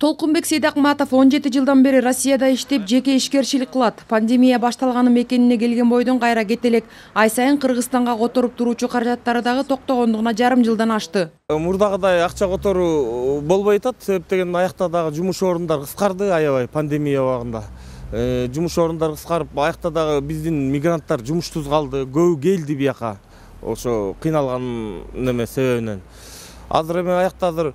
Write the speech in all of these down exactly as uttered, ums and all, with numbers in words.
Толкунбек Сейдакматов он жети жылдан бери Россияда иштеп, жеке ишкерчилик кылат. Пандемия башталганы мекенине келген бойдон кайра кете элек. Ай сайын Кыргызстанга которуп туруучу каражаттары дагы токтогондугуна жарым жылдан ашты. Мурдагыдай акча которуу болбой атат, себеп деген аякта дагы жумуш орундар кыскарды аябай пандемия убагында. Жумуш орундар кыскарып, аякта дагы биздин мигранттар жумуштуз калды, көбү келди бияка. Ошо кыйналган неме себебинен. Азыр эми аякта азыр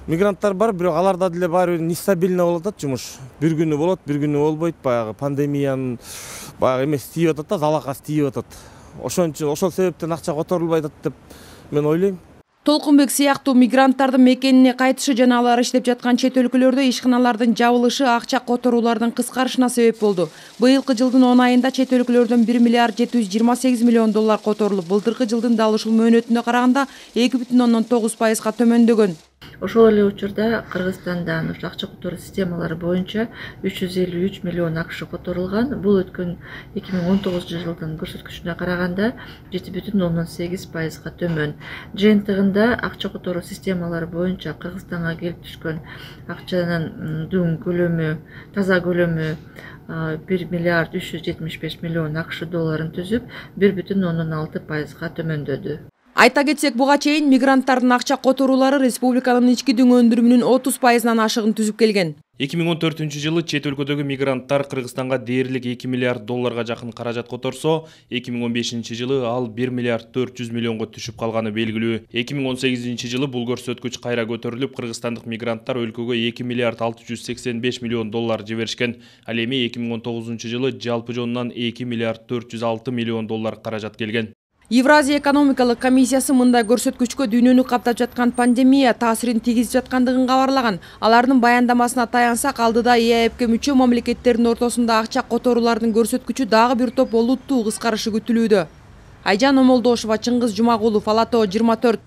мигранттар бар, бирок аларда деле баары нестабильно болуп атат жумуш. Бир күнү болот, бир күнү болбойт. Баягы пандемиянын баягы эмес тийип атат да, залакасы тийип атат. Ошон үчүн ошол себептен акча которулбай атат деп мен ойлойм. Толкунбек сыяктуу мигранттардын мекенине кайтышы жана алар иштеп жаткан чет өлкөлөрдө ишканалардын жабылышы акча которуулардын кыскарышына себеп болду. Быйылкы жылдын он айында чет өлкөлөрдөн бир миллиард жети жүз жыйырма сегиз миллион доллар которулуп, былтыркы жылдын дал ушул мөөнөтүнө караганда эки бүтүн ондон тогуз пайызга төмөндөгөн. Ошол эле учурда Кыргызстандан акча которуу системалары боюнча үч жүз элүү үч миллион акш которулган. Бул өткөн эки миң он тогузунчу жылдын көрсөткүчүнө караганда жети бүтүн ондон сегиз пайызга төмөн. Жыйынтыгында акча которуу системалары боюнча Кыргызстанга келип түшкөн акчанын дүң көлөмү, таза көлөмү бир миллиард үч жүз жетимиш беш миллион акш долларын түзүп, бир бүтүн ондон алты пайызга төмөндөдү. Айта кетсек, буга чейин мигранттардын акча которуулары республиканын ички дүң өндүрүмүнүн отуз пайызынан ашыгын түзүп келген. эки миң он төртүнчү жылы чет өлкөдөгү мигранттар Кыргызстанга дээрлик эки миллиард долларга жакын каражат которсо, эки миң он бешинчи жылы ал бир миллиард төрт жүз миллионго түшүп калганы белгилүү. эки миң он сегизинчи жылы бул көрсөткүч кайра көтөрүлүп, кыргызстандык мигранттар өлкөгө эки миллиард алты жүз сексен беш миллион доллар жиберишкен. Ал эми эки миң он тогузунчу жылы жалпы жонунан эки миллиард төрт жүз алты миллион доллар каражат келген. Евразия экономикалык комиссиясы мындай көрсөткүчкө дүйнөнү каптап жаткан пандемия таасирин тийгизип жаткандыгын кабарлаган. Алардын баяндамасына таянсак, алдыда Е А Эпке мүчө мамлекеттердин ортосунда акча которуулардын көрсөткүчү дагы бир топ олуттуу кыскарышы күтүлүүдө. Айжан Омолдошова, Чыңгыз Жумагулов, Ала Тоо жыйырма төрт.